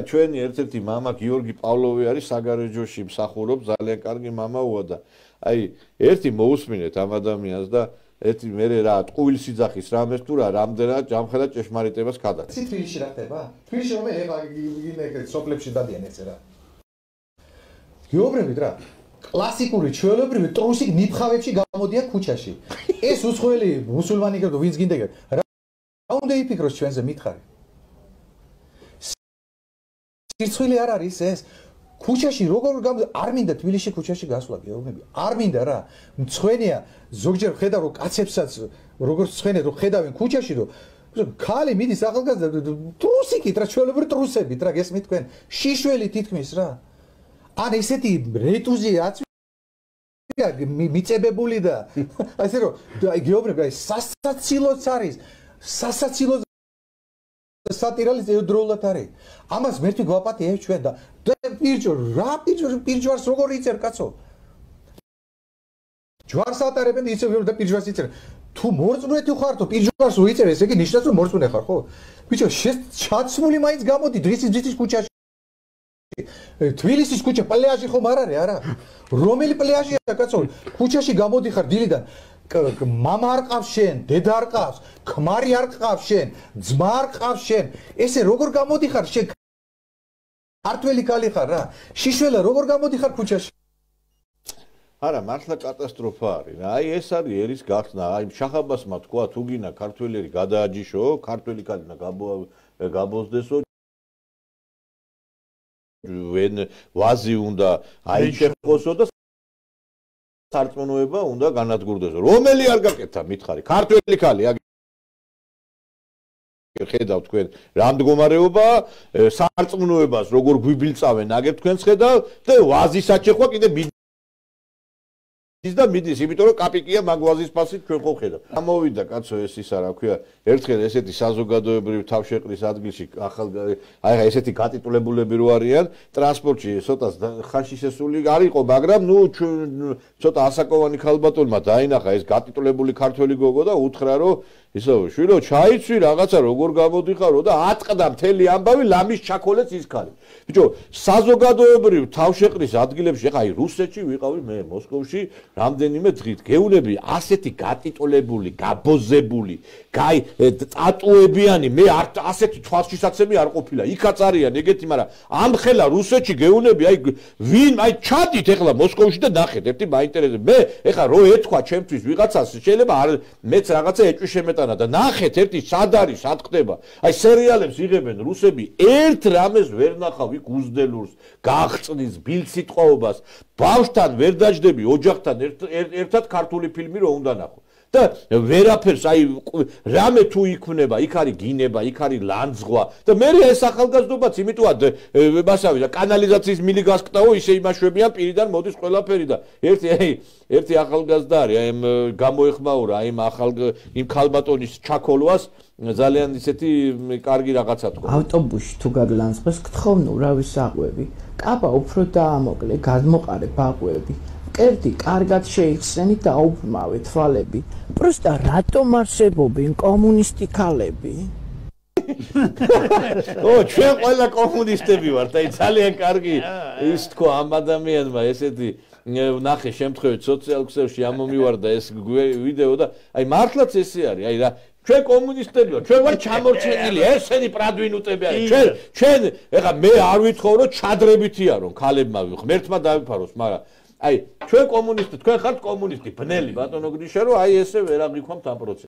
ჩვენი ერთ-ერთი მამა გიორგი პავლოვი არის საგარეჯოში მსახურობს ძალიან კარგი მამაოა და აი ერთი მოусმინეთ ამ ადამიანს და ერთი მე რა ტყუილ სიძახის რამეს თუ რა რამდენად ჯამხედა ჭეშმარიტებას გადაჭ. თბილისში რა ხდება? თბილისში რომ ეხა ეგ სოფლებში დადიან ესე რა. გეუბნებით რა. კლასიკური ჩვეულებრივი ტრუსი ნიფხავებში გამოდიან ქუჩაში. ეს უცხოელი მუსულმანი გერდო ვინც გინდა რა უნდა იფიქროს ჩვენზე მითხარი. სირცხვილი არ არის ეს. ქუჩაში როგორ არ მინდა თბილისში ქუჩაში გასვლა გეუბნები. არ მინდა რა. მცხვენია ზოგჯერ ხედავ რომ კაცებსაც როგორ მცხვენია რომ ხედავენ ქუჩაში რომ ქალი მიდის ახალგაზრდა ტრუსიკით რა ჩვეულებრივი ტრუსებით რა გესმით თქვენ შიშველი თითქმის რა. ან ესეთი რეტუზი აწვია მიწებებული და ასე რომ გეუბნები აი სასაცილოც არის სასაცილო სატირალის ეუდროულად არის ამას მერტი გვაპატია ჩვენ და პირჯო რა პირჯვარს როგორ იწერ კაცო ჯვარს ატარებენ ისე და პირჯვარს იწერ თუ მორწმუნეთი ხარ თუ პირჯვარს უიწერ ესე იგი ნიშნავს რომ მორწმუნე ხარ ხო ბიჭო ჩაცმული მაინც გამოდი დღის ქუჩაში თბილისის ქუჩა პლეაჟი ხომ არ არის არა რომელი პლეაჟია კაცო ქუჩაში გამოდიხარ დილიდან მამა არ ყავს შენ დედა არ ყავს ქმარი არ ყავს შენ ძმა არ ყავს შენ ესე როგორ გამოდიხარ შენ ქართველი ქალი ხარ რა შიშველა როგორ გამოდიხარ ქუჩაში არა მართლა კატასტროფა არის რა აი ეს არის ერის გახსნა აი შახაბასმა თქვა თუ გინა ქართველი გადააჯიშო ქართველი ქალინა გაბოზდესო ვენ ვაზი უნდა აიჩეხოსო და სარწმუნოება უნდა განადგურდესო რომელი არ გაკეთა მითხარი ქართველი ქალი ხედავ თქვენ რა მდგომარეობა სარწმუნოებას როგორ გვიბილწავენ აგერ თქვენს ხედავ და ვაზის აჩეხვა კიდე ის და მიდის იმიტომ რომ კაპიკია მაგვაზის ფასით ჩვენ ხო ხედავ ამოვიდა კაცო ეს ისა რა ქვია ერთხელ ესეთი საზოგადოებრივი თავშეყრის ადგილში აი ესეთი გატიტულებულები რო არიან ტრანსპორტში ცოტა ხანში შესული არისო მაგრამ ნუ ცოტა ასაკოვანი ქალბატონმა დაინახა ეს გატიტულებული ქართველი გოგო და უთხრა რომ ისო შვილო ჩაიცვი რაღაცა როგორ გამოდიხარო და ატყდა მთელი ამბავი ლამის ჩაქოლեց ის ქალი ბიჭო საზოგადოებრივ თავშეყრის ადგილებში ხა აი რუსეთში ვიყავი მე მოსკოვში რამდენიმე დღით გეუნები ასეთი გატიტულებული გაბოზებული გაი ტატუებიანი მე ასეთი თვალშისაცემი არ ყოფილა იქაც არიან ეგეთი მაგრამ ამ ხელა რუსეთში გეუნები აი ვინ აი ჩადით ეხლა მოსკოვში და ნახეთ ერთი მაინტერესებს მე ეხლა რო ეთქვა ჩემთვის ვიღაცას შეიძლება არ მეც რაღაცა ეჭვი და ნახეთ ერთი სად არის სად ხდება აი სერიალებს იღებენ რუსები ერთ რამეს ვერ ნახავ იქ უზდელურს გაღწნის ბილსიტყვაობას ბავშვთან ვერ დაждები ოჯახთან ერთად ქართული ფილმი რო უნდა ნახო და ვერაფერს აი რამე თუ იქმნება იქ არის გინება იქ არის ლანძღვა და მე ეს ახალგაზრდობაც იმიტომად მასავე და კანალიზაციის მილი გასკტაო ისე იმაშვებიან პირიდან მოდის ყველაფერი და ერთი ახალგაზრდა არის აი გამოეხმაურა აი იმ ქალბატონის ჩაქოლვას ძალიან ისეთი კარგი რაღაცა თქვა ავტობუსში თუ გაგლანძღოს გთხოვნო რავი საყვები კაბა უფრო დაამოკლე გადმოყარე ბაყვები კერდი კარგად შეიხსენი და აუბრმავე თვალები პროსტა რატომ არსებობენ კომუნისტი ქალები ო ჩვენ ყველა კომუნისტები ვართ აი ძალიან კარგი ის თქვა ამ ადამიანმა ესეთი ნახე შემთხვევით სოციალურ ქსელში ამომივარდა ეს ვიდეო და აი მართლაც ესე არის აი რა ჩვენ კომუნისტები ვართ ჩვენ ვართ ჩამორჩენილი ესენი პრადვინუტები არის ჩვენ ეხლა მე არ ვითხოვ რომ ჩადრებითია რომ ქალებმა ღმერთმა დავიფაროს მაგრამ აი ჩვენ კომუნისტი თქვენ ხართ კომუნისტი ბნელი ბატონო გრიშა რომ აი ესე ვერ აღიქვამთ ამ პროცესს